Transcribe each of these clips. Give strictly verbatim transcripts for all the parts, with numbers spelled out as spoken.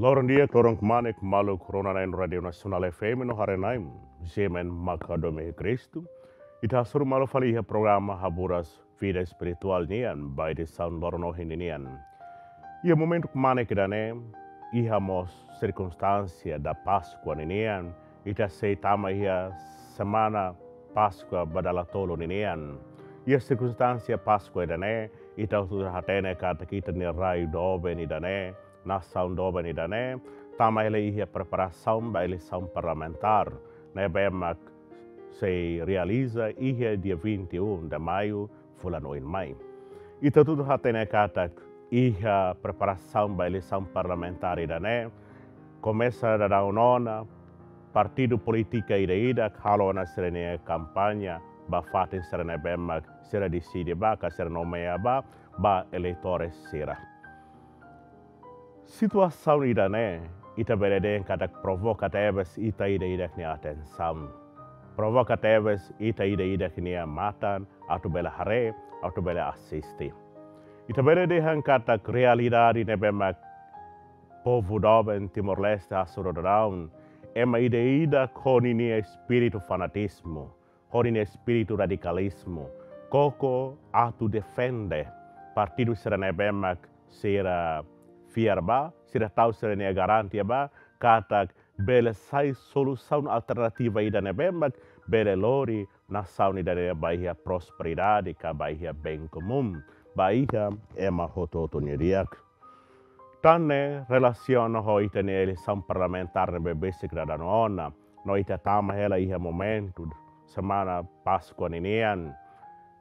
Loron di'ak, loron kmanek, maluk rona-na'in Rádiu Nasionál F M no haree-na'in, G M N Maka Domi Kristu. Ita hasoru malu fali iha programa Haburas Vida Espirituál nian, ba edisaun loron ohin ninian. Iha momentu kmanek ida-ne'e, iha mós sirkunstánsia da Páskua ninian, ita sei tama iha semana Páskua ba dala tolu ninian. Iha sirkunstánsia Páskua ida-ne'e, ita hotu hatene katak ita-nia rai doben ida-ne'e, nasaun doben ida-ne'e, tama hela iha preparasaun ba eleisaun parlamentár ne'ebé mak sei realiza iha dia vinte e um de maio, fulan oin mai. Ita hotu hatene katak iha preparasaun ba eleisaun parlamentár ida-ne'e, komesa daudaun ona, partidu polítika ida-idak halo ona sira-nia kampaña ba fatin sira ne'ebé mak sira deside ba, ka sira nomeia ba, ba eleitores sira. Situasaun ida-ne'e, ita bele dehan katak provoka tebes ita ida-idak nia atensaun. Provoka tebes ita ida-idak nia matan, atu bele haree, atu bele asiste. Ita bele dehan katak realidade ne'ebé mak povu doben Timor-Leste hasoru daudaun, ema ida-idak ho ninia espíritu fanatizmu, ho ninia espíritu radikalizmu, koko atu defende partidu sira ne'ebé mak sira fiar ba, sira tau sira-nia garantia ba, katak bele sai solusaun alternativa ida ne'ebé mak bele lori nasaun ida-ne'e ba iha prosperidade ka ba iha bem comum, ba iha ema hotu-hotu nia di'ak. Tan ne'e relasiona ho ita-nia eleisaun parlamentár ne'ebé besik daudaun ona, no ita tama hela iha momentu semana Páskua ninian.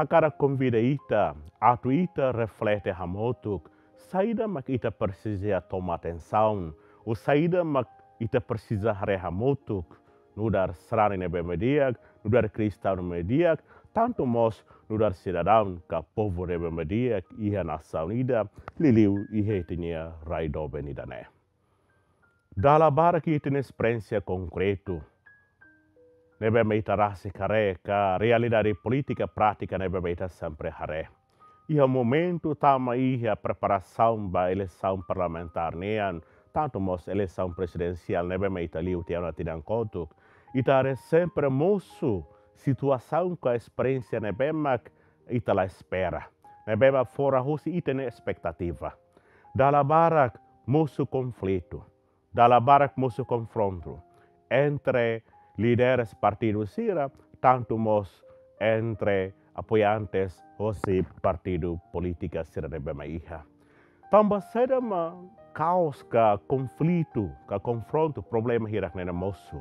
Hakarak konvida ita, atu ita reflete hamutuk, saida mak ita presiza toma atensaun, ou saida mak ita presiza haree hamutuk, nu'udar sarani ne'ebé mak di'ak, nu'udar kristaun ne'ebé mak di'ak, tantu mós nu'udar sidadaun ka povu ne'ebé mak di'ak iha nasaun ida, liuliu iha ita-nia rai doben ida-ne'e. Dala barak ita-nia esperiénsia konkretu ne'ebé mak ita rasik haree ka realidade polítika prátika ne'ebé mak ita sempre haree. Iha momentu tama iha preparasaun ba eleisaun parlamentár nian, tantu mós eleisaun prezidensiál ne'ebé mak ita liu tiha ona tinan kotuk, ita haree sempre mosu situasaun ka esperiénsia ne'ebé mak ita la espera, ne'ebé mak fora husi ita-nia espetativa. Dala barak mosu konflitu, dala barak mosu konfrontu entre líderes partidu sira, tantu mós entre apoiantes hosi partidu polítika sira ne'ebé mak iha. Tanba saida mak kaos ka konflitu, ka konfrontu, problema hirak-ne'e mosu?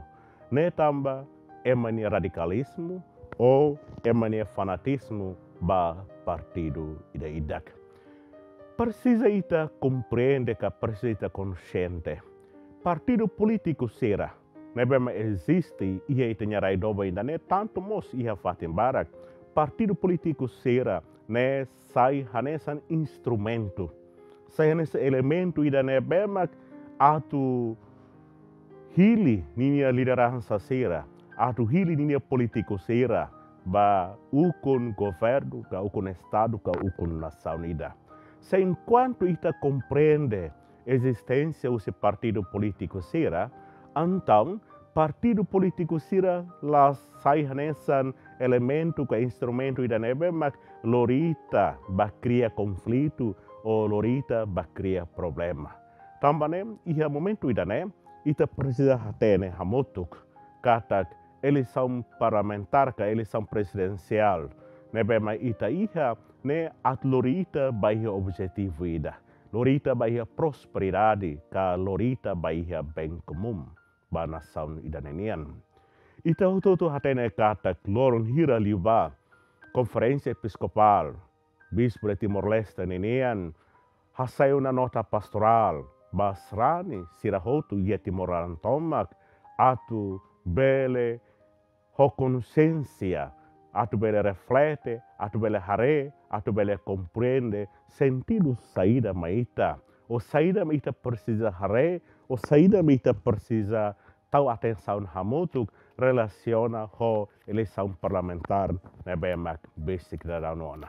Ne'e tanba ema nia radikalizmu, ou ema nia fanatizmu ba partidu ida-idak. Presiza ita komprende ka presiza ita konxiente. Partidu polítiku sira ne'ebé mak eziste iha ita-nia rai doben ida-ne'e, tantu mós iha fatin barak. Partidu polítiku sira-ne'e sai hanesan instrumentu, sai hanesan elementu ida ne'ebé mak atu hili ninia lideransa sira, atu hili ninia polítiku sira ba ukun governu, ka ukun estadu, ka ukun nasaun ida. Se enkuantu ita komprende ezisténsia husi partidu polítiku sira, entaun partidu polítiku sira la sai hanesan elementu ka instrumentu ida ne'ebé mak lori ita ba kria konflitu ou lori ita ba kria problema. Tanba ne'e, iha momentu ida-ne'e, ita presiza hatene hamutuk katak eleisaun parlamentár ka eleisaun prezidensiál ne'ebé mak ita iha ne'e atu lori ita ba iha objetivu ida, lori ita ba iha prosperidade ka lori ita ba iha bem comum ba nasaun ida-ne'e nian. Ita hotu-hotu hatene katak loron hira liubá Konferénsia Episkopál Bispu de Timor-Leste ninian hasai ona nota pastorál ba sarani sira hotu iha Timor laran tomak, atu bele ho konxiénsia, atu bele reflete, atu bele haree, atu bele komprende sentidu saida mak ita, ou saida mak ita presiza haree, ou saida mak ita presiza tau atensaun hamutuk relasiona ho eleisaun parlamentár ne'ebé mak besik daudaun ona.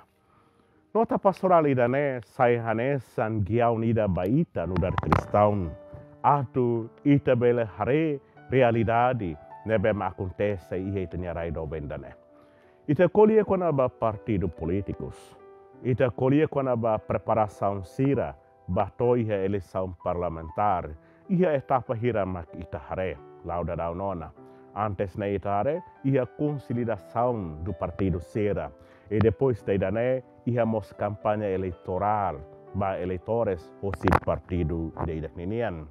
Nota pastorál ida-ne'e sai hanesan giaun ida ba ita nu'udar kristaun, atu ita bele haree realidade ne'ebé mak akontese iha ita-nia rai doben ida-ne'e. Ita ko'alia kona-ba partidu polítikus. Ita ko'alia kona-ba preparasaun sira ba to'o iha eleisaun parlamentár. Iha etapa hira mak ita haree, la'o daudaun ona. Antes ne'e ita haree, iha konsolidasaun do partidu sira. I depois de ida-ne'e, iha mós kampaña eleitorál ba eleitores hosi partidu ida-idak ninian.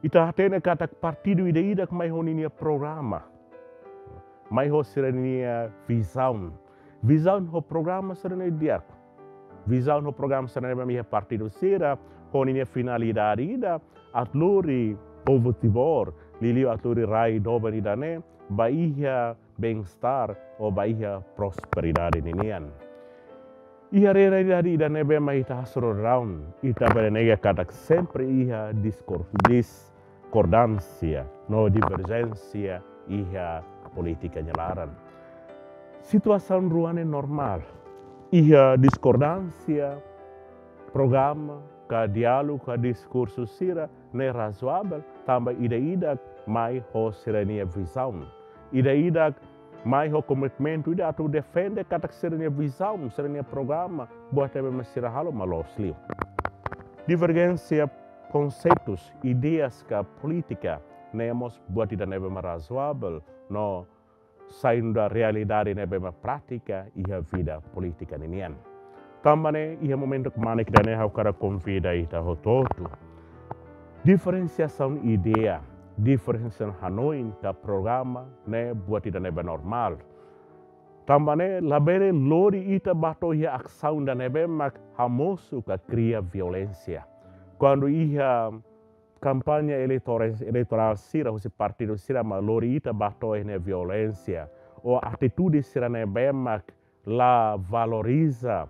Ita hatene katak partidu ida-idak mai ho ninia programa, mai ho sira-nia vizaun. Vizaun ho programa sira-ne'e di'ak. Vizaun ho programa sira-ne'e ba iha partidu sira, ho ninia finalidade ida, atu lori povu Timor, liuliu atu lori rai doben ida-ne'e, ba iha bem-estar ou ba iha prosperidade ninian. Iha realidade ida-ne'ebé mak ita hasoru daudaun, ita bele nega katak sempre iha diskor-, diskordánsia no diverjénsia iha polítika nia laran. Situasaun rua ne'e normál. Iha diskordánsia programa, ka diálogu, ka diskursu sira ne'e razoavel, tanba ida-idak mai ho sira-nia vizaun. Ida-idak mai ho komitmentu ida atu defende katak sira-nia vizaun, sira-nia programa, buat ne'ebé mak sira halo mak loos liu. Diverjénsia konseitus, ideias ka polítika, ne'e mós buat ida ne'ebé mak razoavel, no sai nu'udar realidade ne'ebé mak prátika iha vida polítika ninian. Tanba ne'e, iha momentu kmanek ida-ne'e ha'u hakarak konvida ita hotu-hotu. Diferensiasaun ideia, diferensiasaun hanoin ka programa ne'e buat ida ne'ebé normál. Tanba ne'e labele lori ita ba to'o iha asaun ida ne'ebé mak hamosu ka kria violénsia. Kuandu iha kampaña eleitora-, eleitorál sira, husi partidu sira mak lori ita ba to'o iha ne'e violénsia, ou atitude sira ne'ebé mak la valoriza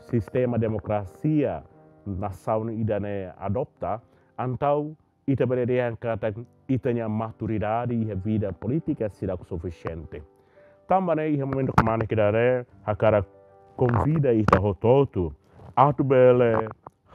sistema demokrasia nasaun ida-ne'e adopta, entaun ita bele dehan katak ita-nia maturidade iha vida polítika seidauk sufisiente. Tanba ne'e iha momentu kmanek ida-ne'e hakarak konvida ita hotu-hotu atu bele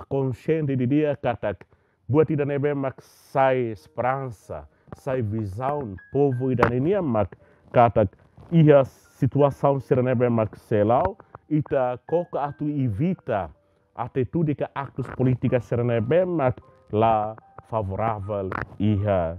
konxiente didi'ak katak buat ida ne'ebé mak sai esperansa, sai vizaun povu ida ninian mak katak iha situasaun sira ne'ebé mak sei la'o, ita koko atu evita atitude ka aktus polítika sira ne'ebé mak la favoravel iha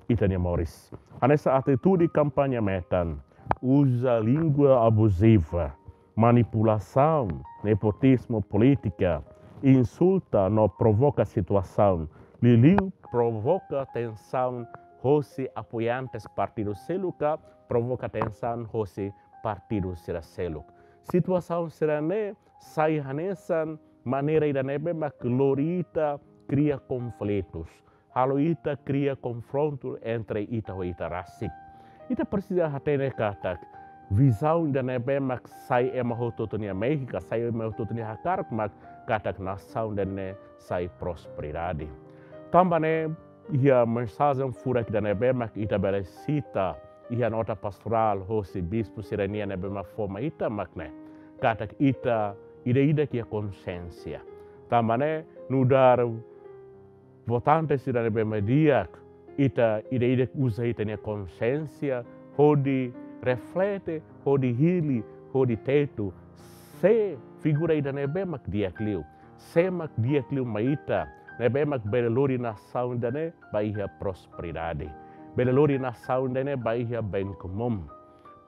ita-nia moris. Hanesan atitude kampaña metan, uza língua abuziva, manipulasaun, nepotizmu polítika, insulta no provoka situasaun, liuliu provoka tensaun hosi apoiantes partidu seluk ka provoka tensaun hosi partidu sira seluk. Situasaun sira-ne'e sai hanesan maneira ida ne'ebé mak lori ita kria konflitus, halo ita kria konfrontu entre ita ho ita rasik. Ita presiza hatene katak vizaun ida ne'ebé mak sai ema hotu-hotu nia mehi ka sai ema hotu-hotu nia hakarak mak katak nasaun ida-ne'e sai prosperidade. Tanba ne'e iha mensajen furak ida ne'ebé mak ita bele sita iha nota pastorál hosi bispu sira-nian ne'ebé mak fó mai ita mak ne'e katak ita ida-idak iha konxiénsia. Tanba ne'e nu'udar votante sira ne'ebé mak di'ak, ita ida-idak uza ita-nia konxiénsia hodi reflete, hodi hili, hodi tetu sé figura ida ne'ebé mak di'ak liu, sé mak di'ak liu mai ita, ne'ebé mak bele lori nasaun ida-ne'e ba iha prosperidade, bele lori nasaun ida-ne'e ba iha bem comum.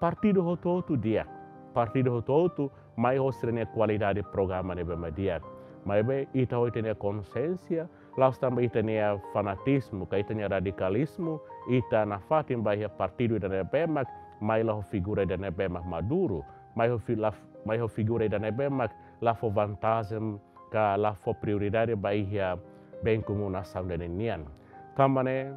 Partidu hotu-hotu di'ak, partidu hotu-hotu mai ho sira-nia kualidade programa ne'ebé mak di'ak. Maibé ita ho ita-nia konxiénsia, la'ós tanba ita-nia fanatizmu ka ita-nia radikalizmu, ita nafatin ba iha partidu ida ne'ebé mak mai la ho figura ida ne'ebé mak maduru, mai ho fi-, la f-, mai ho figura ida ne'ebé mak la fó vantajen ka la fó prioridade ba iha bem comum nasaun ida-ne'e nian. Tanba ne'e,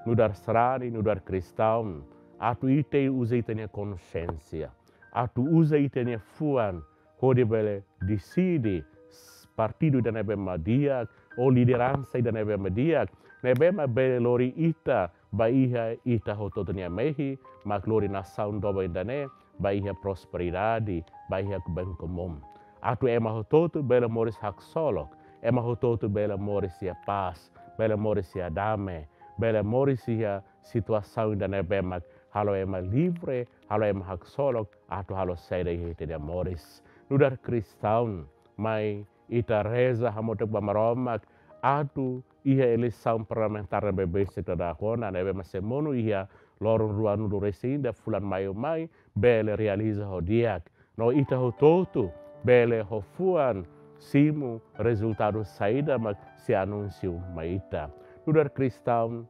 nu'udar sarani, nu'udar kristaun, atu ita uza ita-nia konxiénsia, atu uza ita-nia fuan, hodi bele deside s-, partidu ida ne'ebé mak di'ak, ou lideransa ida ne'ebé mak di'ak, ne'ebé mak bele lori ita ba iha ita hotu-hotu nia mehi, mak lori nasaun doben ida-ne'e ba iha prosperidade, ba iha bem comum. Atu ema hotu-hotu bele moris haksolok, ema hotu-hotu bele moris iha pás, bele moris iha dame, bele moris iha situasaun ida ne'ebé mak halo ema livre, halo ema haksolok atu halo saida iha ita-nia moris. Nu'udar kristaun, mai ita reza hamutuk ba Maromak atu iha eleisaun parlamentár ne'ebé besik daudaun ona, ne'ebé mak sei monu iha loron ruanulu-resin-ida fulan Maiu mai, bele realiza ho di'ak. No ita hotu-hotu bele ho fuan simu rezultadu saida mak sei anunsiu mai ita. Nu'udar kristaun,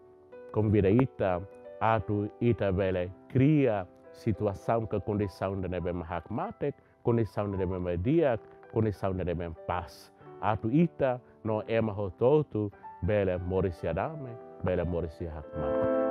konvida ita atu ita bele kria situasaun ka kondisaun ida ne'ebé mak hakmatek, kondisaun ida ne'ebé mak di'ak, kondisaun ida ne'ebé mak pás. Atu ita no ema hotu-hotu bele moris iha dame, bele moris iha hakmatek.